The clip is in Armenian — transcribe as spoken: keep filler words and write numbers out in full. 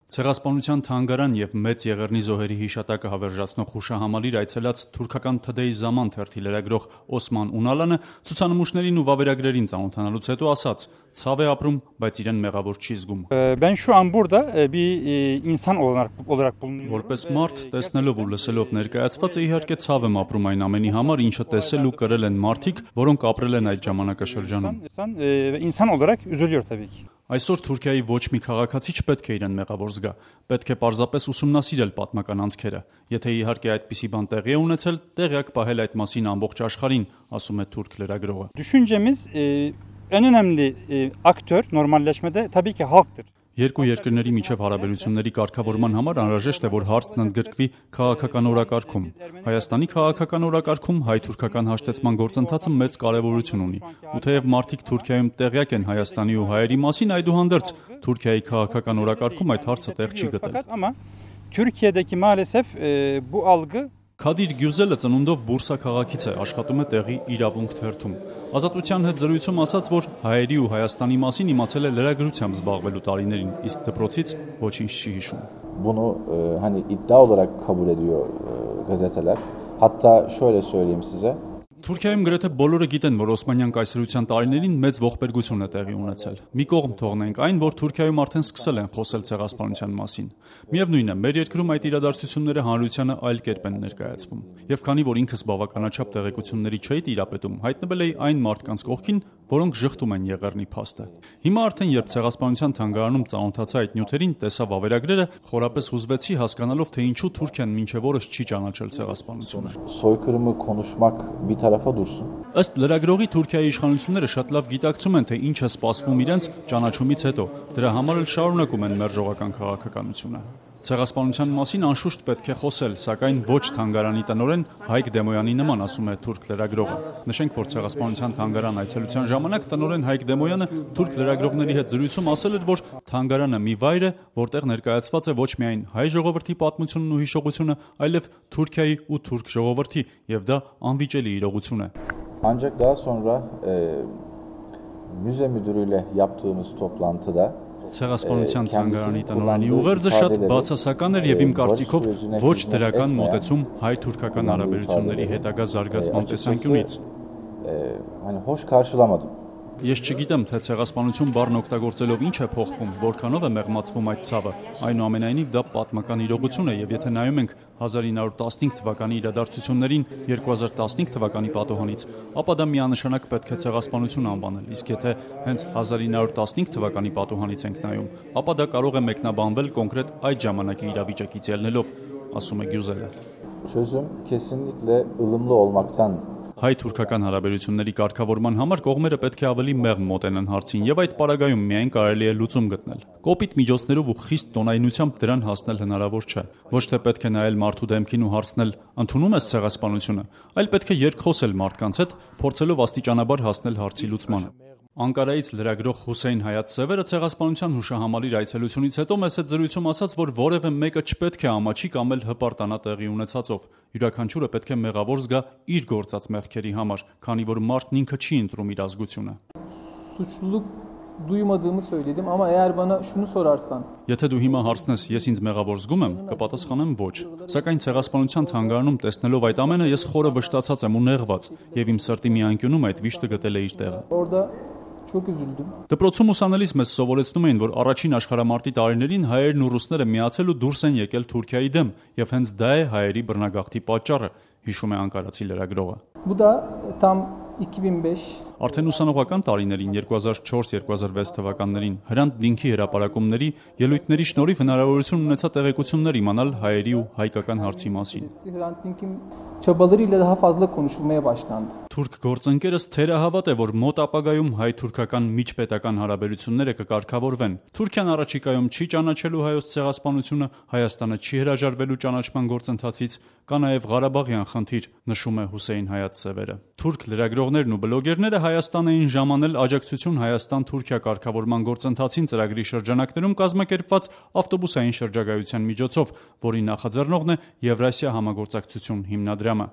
Ցեղասպանության թանգարան և մեծ Եղեռնի զոհերի հիշատակը հավերժացնող հուշահամալիր այցելած թուրքական «Թդեի Զաման» թերթի լրագրող Օսման Ունալանը ցուցանմուշներին ու վավերագրերին ծանոթանալուց հետո ասաց. «Ցավ է ապրում, բայց իրեն մեղավոր չի զգում»։ Որպես մարդ, տեսնելով ու լսելով ներկայացվածը, իհարկե ցավ եմ ապրում այն ամենի համար, ինչը տեսել ու կրել են մարդիկ, որոնք ապրել են այդ ժամանակաշրջանում։ Այսօր Թուրքիայի ոչ մի քաղաքացի չպետք է իրեն մեղավոր զգա, պետք է պարզապես ուսումնասիրել պատմական անցքերը, եթե իհարկե այդպիսի բան տեղի է ունեցել, տեղյակ պահել այդ մասին ամբողջ աշխարհին, ասում է թուրք լրագրողը։ Երկու երկրների միջև հարաբերությունների կարգավորման համար անհրաժեշտ է, որ հարցն ընդգրկվի քաղաքական օրակարգում։ Հայաստանի քաղաքական օրակարգում հայ-թուրքական հաշտեցման գործընթացը մեծ կարևորություն ունի, ու թեև մարդիկ Թուրքիայում տեղյակ են Հայաստանի ու հայերի մասին, այդուհանդերձ Թուրքիայի քաղաքական օրակարգում այդ հարցը տեղ չի գտել։ Քադիր Գյուզելը ծնունդով Բուրսա քաղաքից է, աշխատում է տեղի իրավունք թերթում։ Ազատության հետ զրույցում ասաց, որ հայերի ու Հայաստանի մասին իմացել է լրագրությամբ զբաղվելու տարիներին, իսկ դպրոցից ոչինչ չի հիշում։ Bunu hani iddia olarak kabul ediyor gazeteler. Hatta şöyle söyleyeyim size. Թուրքիայում գրեթե բոլորը գիտեն, որ Օսմանյան կայսրության տարիներին մեծ ողբերգություն է տեղի ունեցել։ Մի կողմ թողնենք այն, որ Թուրքիայում արդեն սկսել են խոսել ցեղասպանության մասին։ Միևնույն է, մեր երկրում այդ իրադարձությունները հանրությանը այլ կերպ են ներկայացվում։ Եվ քանի որ ինքս բավականաչափ տեղեկությունների չէի տիրապետում, հայտնվել էի այն մարդկանց կողքին, որոնք ժխտում են Եղեռնի փաստը։ Հիմա արդեն երբ ցեղասպանության թանգարանում ծանոթացա այդ նյութերին, տեսա վավերագրերը, խորապես հուզվեցի հասկանալով, թե ինչու Թուրքիան մինչև օրս չի ճանաչել ցեղասպանությունը։ Soykırımı konuşmak bir tarafa dursun. Ըստ լրագրողի Թուրքիայի իշխանությունները շատ լավ գիտակցում են, թե ինչ է սպասվում իրենց ճանաչումից հետո։ Դրա համար էլ շարունակում են մերժողական քաղաքականությունը։ Ցեղասպանության մասին անշուշտ պետք է խոսել, սակայն ոչ թանգարանի տնօրեն Հայկ Դեմոյանի նման, ասում է թուրք լրագրողը։ Նշենք, որ ցեղասպանության թանգարան այցելության ժամանակ տնօրեն Հայկ Դեմոյանը թուրք լրագրողների հետ զրույցում ասել էր, որ թանգարանը մի վայր է, որտեղ ներկայացված է ոչ միայն հայ ժողովրդի պատմությունն ու հիշողությունը, այլև Թուրքիայի ու թուրք ժողովրդի, եւ դա անվիճելի իրողություն է։ Ancak daha sonra e, müze müdürüyle yaptığımız toplantıda Ցեղասպանության թանգարանի տնօրենի ուղերձը շատ բացասական էր եւ իմ կարծիքով ոչ դրական մոտեցում հայ-թուրքական հարաբերությունների հետագա զարգացման տեսանկյունից։ Ես չգիտեմ, թե ցեղասպանություն բառն օգտագործելով ինչ է փոխվում, որքանով է մեղմացվում այդ ցավը։ Այնուամենայնիվ դա պատմական իրողություն է եւ եթե նայում ենք հազար ինը հարյուր տասնհինգ թվականի իրադարձություններին երկու հազար տասնհինգ թվականի պատոհանից, ապա դա միանշանակ պետք է ցեղասպանություն անվանել, իսկ եթե հենց հազար ինը հարյուր տասնհինգ թվականի պատոհանից ենք նայում, ապա դա կարող է մեկնաբանվել կոնկրետ այդ ժամանակի իրավիճակից ելնելով, ասում է Գյուզելը։ Çözüm kesinlikle ılımlı olmaktan Հայ-թուրքական հարաբերությունների կարգավորման համար կողմերը պետք է ավելի մեղմ մոտենան հարցին եւ այդ պարագայում միայն կարելի է լուծում գտնել։ Կոպիտ միջոցներով ու խիստ տոնայնությամբ դրան հասնել հնարավոր չէ։ Ոչ թե պետք է նայել մարդու դեմքին ու հարցնել՝ ընդունում ես ցեղասպանությունը, այլ պետք է երկխոսել մարդկանց հետ, փորձելով աստիճանաբար հասնել հարցի լուծմանը։ Անկարայից լրագրող Հուսեյն Հայաթ Սևերը ցեղասպանության հուշահամալիր այցելությունից հետո մեծ հետ զրույցում ասաց, որ որևէ մեկը չպետք է ամաչի կամ էլ հպարտանա տեղի ունեցածով։ Յուրաքանչյուրը պետք է մեղավոր զգա իր գործած մեղքերի համար, քանի որ մարդն ինքը չի ընտրում իր ազգությունը։ Duymadığımı söyledim ama eğer bana şunu sorarsan Եթե դու հիմա հարցնես, ես ինձ մեղավոր զգում եմ, կպատասխանեմ ոչ։ Սակայն ցեղասպանության թանգարանում տեսնելով այդ ամենը, ես խորը վշտացած եմ ու նեղված, եւ իմ սրտի մի անկյունում այդ վիշտը գտել է իր տեղը։ Orada çok üzüldüm. Դպրոցում ուսանելիս մեզ սովորեցնում էին, որ առաջին աշխարհամարտի տարիներին հայերն ու ռուսները միացել ու դուրս են եկել Թուրքիայի դեմ, եւ հենց դա է հայերի բռնագաղթի պատճառը, հիշում է անկարացի լրագրողը։ Bu da tam iki bin beş Արդեն ուսանողական տարիներին երկու հազար չորս երկու հազար վեց թվականներին Հրանտ Դինքի հրապարակումների ելույթների շնորհիվ հնարավորություն ունեցա տեղեկություններ իմանալ հայերի ու հայկական հարցի մասին։ Hrant Dink'in çabalarıyla daha fazla konuşulmaya başlandı. Թուրք գործընկերս թերահավատ է, որ մոտ ապագայում հայ-թուրքական միջպետական հարաբերությունները կկարգավորվեն։ Թուրքիան առաջիկայում չի ճանաչելու հայոց ցեղասպանությունը, Հայաստանը չի հրաժարվելու ճանաչման գործընթացից, կա նաև Ղարաբաղյան խնդիր, նշում է Հուսեյն Հայաթ Սևերը։ Թուրք լրագրողներն ու բլոգերները Հայաստան էին ժամանել աջակցություն Հայաստան-Թուրքիա կարգավորման գործընթացին ծրագրի շրջանակներում կազմակերպված ավտոբուսային շրջագայության միջոցով, որի նախաձեռնողն է Եվրասիա համագործակցություն հիմնադրամը։